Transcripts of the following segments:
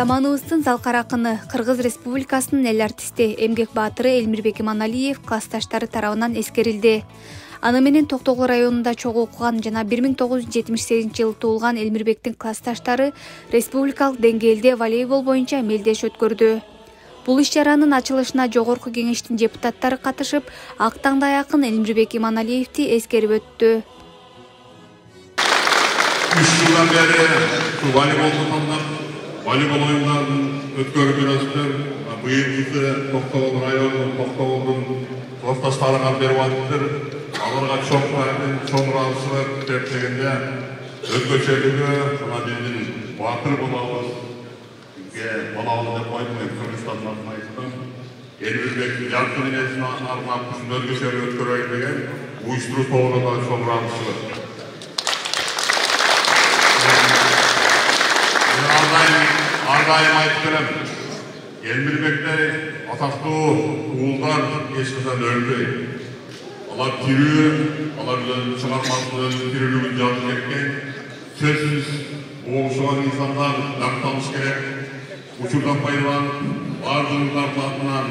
Заманыбыздын залкар акыны, Кыргыз Республикасынын эл артисти, эмгек баатыры Элмирбек Иманалиев классташтары тарабынан эскерилди. Аны менен Токтогул районунда чогуу окуган жана 1978-жылы туулган Элмирбектин классташтары республикалык деңгээлде волейбол боюнча мелдеш өткөрдү. Бул иш-чаранын ачылышына Жогорку кеңештин депутаттары катышып, ак таңдай акын Элмирбек Иманалиевди эскерип өттү. 3 жылдан бери волейбол оюндарын өткөрүп жүрөсүздөр. Быйылкысы Токтогул районунун Токтогулдун классташтарына берип атыптыр. Аларга чоң ыраазычылык деп дегенде өзгөчөлүгү жана биздин баатыр болобузге болобу деп койдум. Мен Кыргызстандын атынан айттым. Элмирбектин жаркын энесин арнап ушундай өзгөчөлүк өткөрөйүн деген уюштуруу тобуна да чоң ыраазычылык. Ардайым айтып келем. Элмирбектей атактуу уулдар эч качан өлбөйт. Алар тирүү, алар чыгармасынын тирүүлүгүн жазып кеткен. Сөзсүз болушуган инсандар дакталыш керек. Учурдан пайдаланып, бардыгыңардын атынан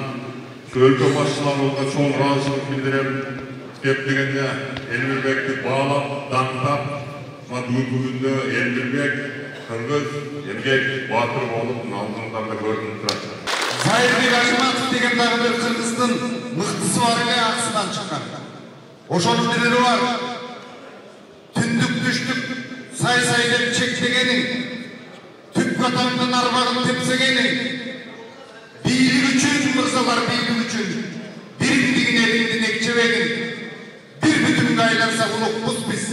өлкө башчыларыбызга чоң ыраазычылык билдирем деп дегенде Элмирбекти баалап, даңктап, бүгүндө Элмирбек Кыргыз эмгек баатыр болуп алдыңдарда көрүнүп турат. Зайырбек Ажыматов деген дагы бир Кыргыздын мыктысы бар эле, аксынан чыккан. Ошонун дилери бар. Түндүк түштүк сай деп чектегени, түп катаңдын арбагын тепсегени, бийлик үчүн мырзалар, бийлик үчүн биримдигин элиңдин экчебегин, бир бүтүнгө айланса улукпуз биз,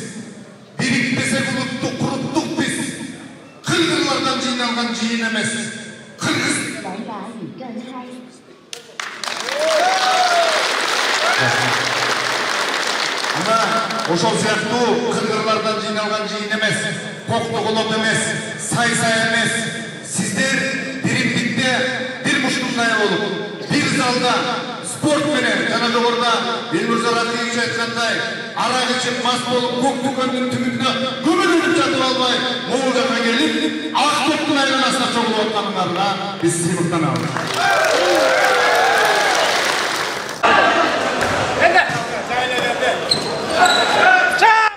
бириктесек улутту куруттук биз. Кыргыздардан жыйналган жыйын эмес. Кыргыз. Ана ошол сыяктуу кыргыздардан жыйналган жыйын эмес, коктогулот эмес, сай эмес. Сиздер биримдикте бир мушкундай болуп, бир залда спорт менен жана жогоруда Элмирза Рахимович айткандай, арак ичип мас болуп, көк дүкөндүн түбүндө көмүлүп жатып албай, могул жака келип, ак топтун айланасына чогулуп атканыңарга биз сыйлыктанабыз.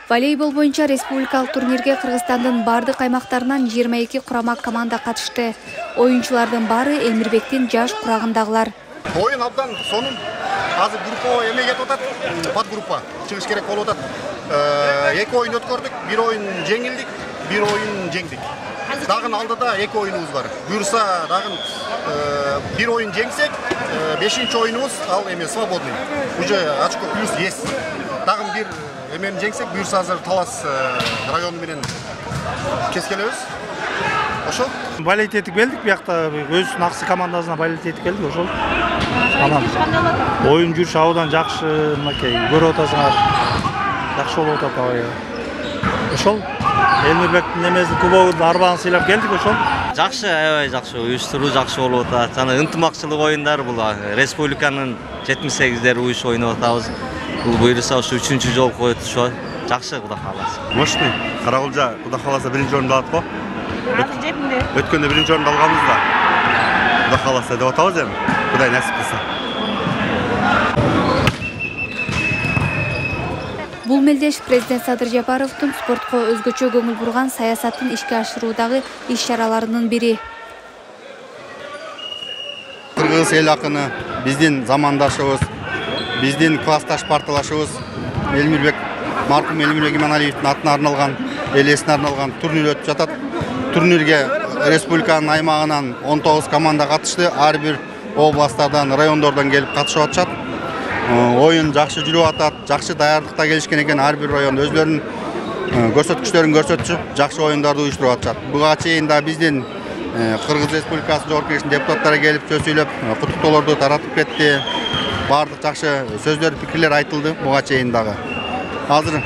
Волейбол боюнча республикалык турнирге Кыргызстандын бардык аймактарынан 22 курама команда катышты. Оюнчулардын баары Элмирбектин жаш курагындагылар. Oyun abdan sonun azı grupa emeğe ketip atat, подгруппа çıkış gerek болуп атат. Эки oyun өткөрдүк, bir oyun жеңилдик, bir oyun жеңдик. Dagın aldıda эки oyunumuz var. Buyursa dagın bir oyun жеңсек, 5-нчи oyunumuz al эме свободный. Уже очко плюс есть. Dagın bir эмени жеңсек, buyursa азыр Талас району менен кескелебиз. Ошол балет этип келдик, биякта өзүнүн аксы командасына балет этип келдик, ошол. Анан оюн жүрүш абдан жакшы, мынакей көрүп атасыңар. Жакшы болуп атат абай. Ошол Элмирбектин немесин кубогун арбаны сыйлап келдик, ошол. Жакшы, аябай жакшы, уюштуруу жакшы болуп атат. Жана ынтымакчылык оюндар бул республиканын 78-дер уюш ойноп атабыз. Бул буйруса ушу 3-чү жолку өтүшү жакшы, Кудай кааласа. Мощный. Карагулжа Кудай кааласа 1-нчи орунду алат го. Өткөндө 1-нчи орунду алганбыз да. Кудай кааласа деп атабыз эми. Кудай насип кылса. Бул мелдеш президент Садыр Жапаровдун спортко өзгөчө көңүл бурган саясатын ишке ашыруудагы иш-чараларынын бири. Кыргыз эл акыны биздин замандашыбыз, биздин классташ парталашыбыз маркум Элмирбек Иманалиевдин атына арналган, элесине арналган турнир өтүп жатат. Турнирге республиканын аймагынан 19 команда катышты. Ар бир областтардан, райондордон келип катышып атышат. Оюн жакшы жүрүп атат, жакшы даярдыкта келишкен экен. Ар бир район өзлөрүнүн көрсөткүчтөрүн көрсөтүп, жакшы оюндарды уюштуруп атышат. Буга чейин да биздин Кыргыз Республикасынын Жогорку кеңештин депутаттары келип сөз сүйлөп, куттуктоолорду таратып кетти. Бардык жакшы сөздөр, пикирлер айтылды буга чейин дагы. Азыр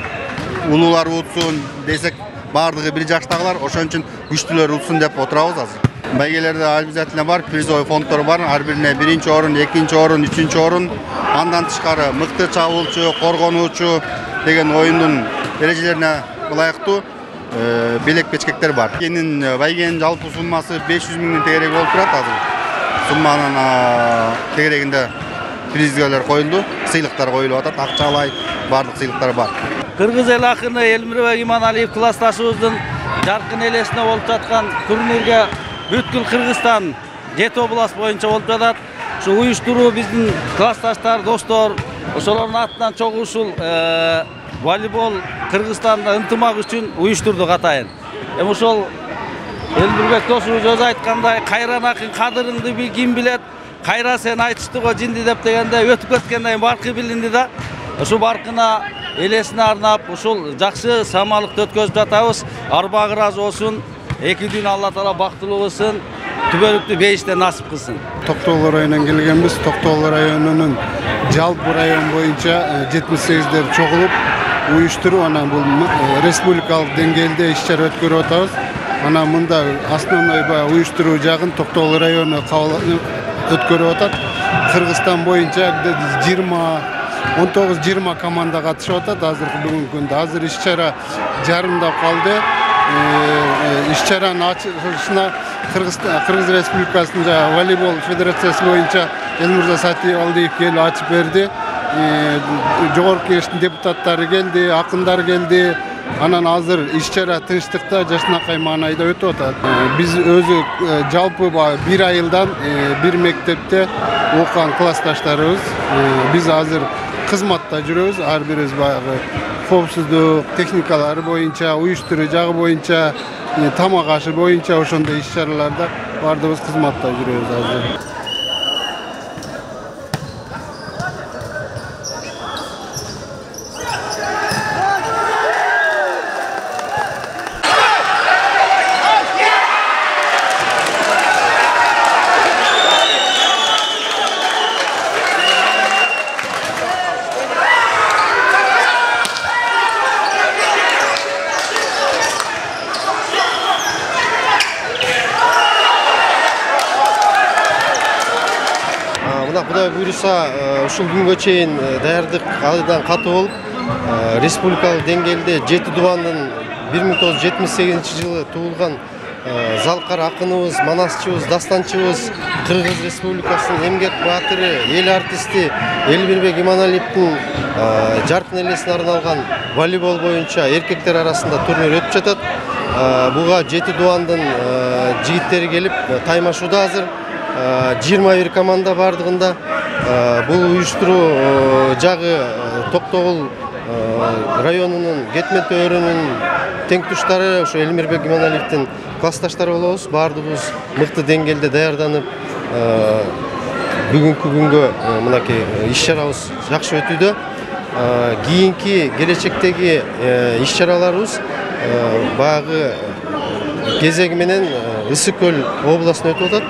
улуулар утсун десек, бардыгы бир жаштагылар, ошон үчүн күчтүүлөр утсын деп отурабыз азыр. Байгелерде обязательно бар, призовый фонддор бар. Ар бирине 1-нчи орун, 2-нчи орун, 3-нчи орун. Андан тышкары мыкты чабуулчу, коргонуучу деген оюндун эрежелерине ылайыктуу белек бечкектер бар. Байгенин жалпы суммасы 500 миңдин тегерек болуп турат азыр. Сумманын тегерегинде призгалар коюлду, сыйлыктар коюлуп атат, акчалай барлык сыйлыктар бар. Кыргыз эл акыны Элмирбек Иманалиев классташыбыздын жаркын элесине болуп жаткан турнирге бүткүл Кыргызстан 7 област боюнча болуп жатат. Ушу уюштуруу биздин классташтар, достор, ошолордун атынан чогуу ушул волейбол Кыргызстанда ынтымак үчүн уюштурдук атайын. Эми ошол Элмирбек досубуз өзү айткандай, кайран акын кадырыңды ким билет, кайра сен айтышты го жинди деп дегенде өтүп кеткенден баркы билинди да. Ушул баркына элесине арнап ушул жакшы самалыкты өткөзүп жатабыз. Арбагы ыраазы болсун. 2 күн Алла таала бактылуу кылсын, түбөлүктү бейиштен насип кылсын. Токтогул районунан келгенбиз. Токтогул районунун жалпы район боюнча 78дер чогулуп уюштуруп, анан бул республикалык деңгээлде иш-чара өткөрүп атабыз. Анан мында основной уюштуруу жагын Токтогул району өткөрүп атат. Кыргызстан боюнча 19-20 команда катышып атат азыркы бүгүнкү күндө. Азыр иш-чара жарымдап калды. Иш-чаранын ачылышына Кыргыз Республикасынын волейбол федерациясы боюнча Элмирза Сатиалдиев келип ачып берди. Жогорку кеңештин депутаттары келди, акындар келди. Анан азыр иш-чара тынчтыкта, жашынакай маанайда өтүп атат. Биз өзү жалпы 1 айылдан бир мектепте окуган классташтарыбыз. Биз азыр кызматта жүрөбүз. Ар бирибиз баягы коопсуздук техникалары боюнча, уюштуруу жагы боюнча, тамак ашы боюнча ошондой иш-чараларда бардыгыбыз кызматта жүрөбүз азыр. Кудай буйруса, ушул күнгө чейин даярдык айдан катуу болуп, республикалык деңгээлде 7 дубандын 1978 жылы туулган залкар акыныбыз, манасчыбыз, дастанчыбыз, Кыргыз Республикасынын эмгек баатыры, эл артисти Элмирбек Иманалиевдин жаркын элесине арналган волейбол боюнча эркектер арасында турнир өтүп жатат. Буга 7 дубандын жигиттери келип таймашууда азыр. 21 команда бардыгында. Бул уюштуруу жагы Токтогул районунун Кетмен төөрүнүн теңтуштары, ошо Элмирбек Иманалиевдин классташтары болобуз. Бардыгыбыз мыкты деңгээлде даярданып, бүгүнкү күнгө мынакей иш-чарабыз жакшы өтүүдө. Кийинки келечектеги иш-чараларыбыз баягы кезеги менен Ысык көл областына өтүп атат.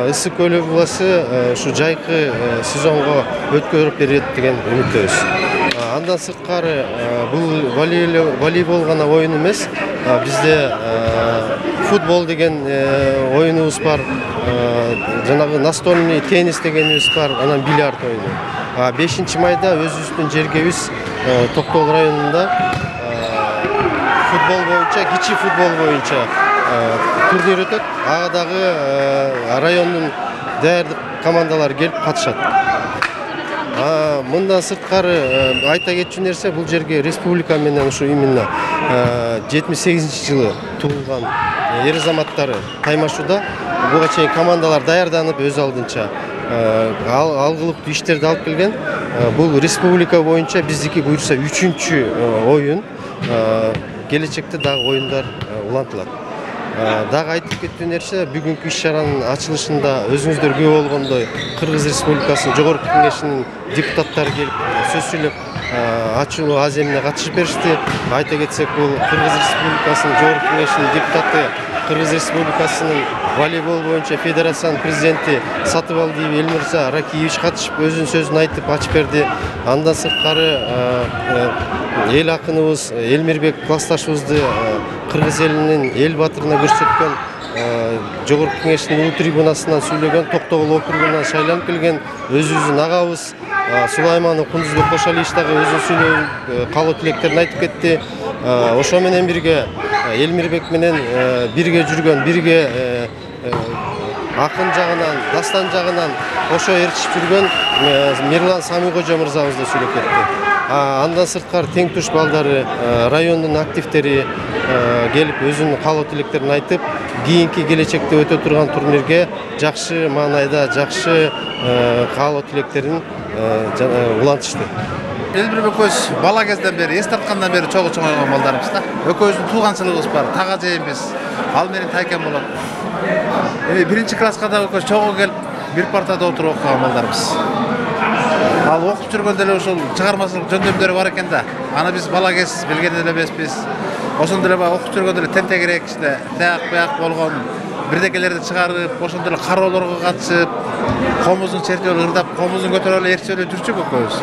Ысык көл областы ушу жайкы сезонго өткөрүп берет деген үмүттөбүз. Андан сырткары бул волейбол гана оюн эмес, бизде футбол деген оюнубуз бар, жанагы настольный теннис дегенибиз бар, анан бильярд оюну. 5 майда өзүбүздүн жергебиз Токтогул районунда футбол боюнча, кичи футбол боюнча турнир өтөт. Ага дагы райондун даярдык командалары келип катышат. Мындан сырткары айта кетчү нерсе, бул жерге республика менен ушу именно 78 жылы туулган эр азаматтары таймашууда. Буга чейин командалар даярданып өз алдынча алгылыктуу иштерди алып келген. Бул республика боюнча биздики буйруса 3-чү оюн. Келечекте дагы оюндар улантылат. Дагы айтып кеттүү нерсе, бүгүнкү иш-чаранын ачылышында өзүңүздөр күбө болгондой Кыргыз Республикасынын Жогорку Кеңешинин депутаттары келип сөз сүйлөп, ачуу аземине катышып беришти. Айта кетсек, бул Кыргыз Республикасынын Жогорку Кеңешинин депутаты, Кыргыз Республикасынын волейбол боюнча федерациянын президенти Сатыбалдиев Элмирза Ракиевич катышып өзүнүн сөзүн айтып ачып берди. Андан сырткары эл акыныбыз Элмирбек классташыбызды Кыргыз элинин эл баатырына көрсөткөн, Жогорку Кеңештин улуу трибунасынан сүйлөгөн, Токтогул округунан шайланып келген өзүбүздүн агабыз Сулайманов Кундузбек Кошалиевич дагы өзүнүн сүйлөп каалоо тилектерин айтып кетти. Ошо менен бирге Элмирбек менен бирге жүргөн, бирге акын жагынан, дастан жагынан кошо ээрчишип жүргөн Мирлан Самикожо мырзабызды сүйлөп кетти. Андан сырткары тең туш балдары, райондун активдери келип өзүнүн каалоо тилектерин айтып, кийинки келечекте өтө турган турнирге жакшы маанайда, жакшы каалоо тилектерин улантышты. Элмирбек экөөбүз бала кезден бери, эс тарткандан бери чогуу чоңойгон балдарыбыз да. Экөөбүздүн тууганчылыгыбыз бар, тага жээмбиз. Ал менен тайкем болот. Биринчи класска да экөөбүз чогуу келип, бир партада отуруп окуган балдарыбыз. Ал окуп жүргөндө эле ушул чыгармачылык жөндөмдөрү бар экен да. Аны биз бала кез билген эле эмеспиз. Ошондо эле окуп жүргөндө эле тентегирээк иште, таяк болгон бирдекелерди чыгарып, ошондо эле кароолорго катышып, комузун чертип ырдап, комузун көтөрүп эле ээрчип эле жүрчүк экөөбүз.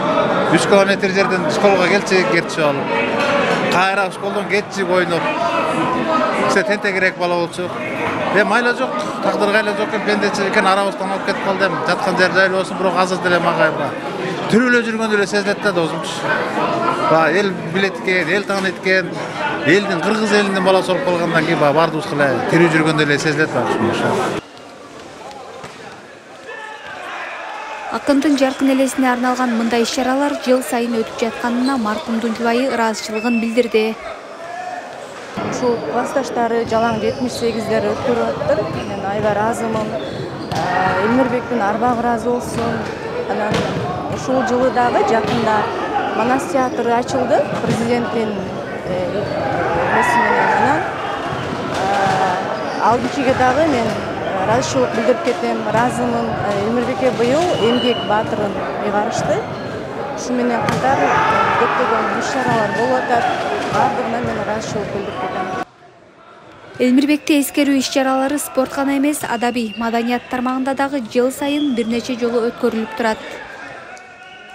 3 километр жерден школго келчик, ээрчип алып. Кайра школдон кетчик ойноп. Бизде тентегирээк бала болчук. Майла жок, тагдырга эле жок экен, пендечилик экен, арабыздан алып кетип калды. Жаткан жер жайлуу болсун, бирок азыр деле мага тирүү эле жүргөндө эле сезилет да досумчу. Эл билет экен, эл тааныйт экен. Элдин, кыргыз элинин баласы болуп калгандан кийин баардыгыбыз эле тирүү жүргөндө эле сезилет ушул. Акындын жаркын элесине арналган мындай иш-чаралар жыл сайын өтүп жатканына маркумдун жубайы ыраазычылыгын билдирди. Ушул классташтары жалаң 78-дер өткөрүп атыптыр. Мен аябай ыраазымын. Элмирбектин арбагы ыраазы болсун. Анан ушул жылы дагы жакында Манас театры ачылды. Президенттин эмеси менен анан алдынчыга дагы мен ыраазычылык билдирип кетем. Ыраазымын. Элмирбекке быйыл эмгек баатырын ыйгарышты. Ушу менен катар көптөгөн иш-чаралар болуп атат. Бардыгына мен ыраазычылык билдирип кетем. Элмирбекти эскерүү иш-чаралары спорт гана эмес, адабий, маданият тармагында дагы жыл сайын бир нече жолу өткөрүлүп турат.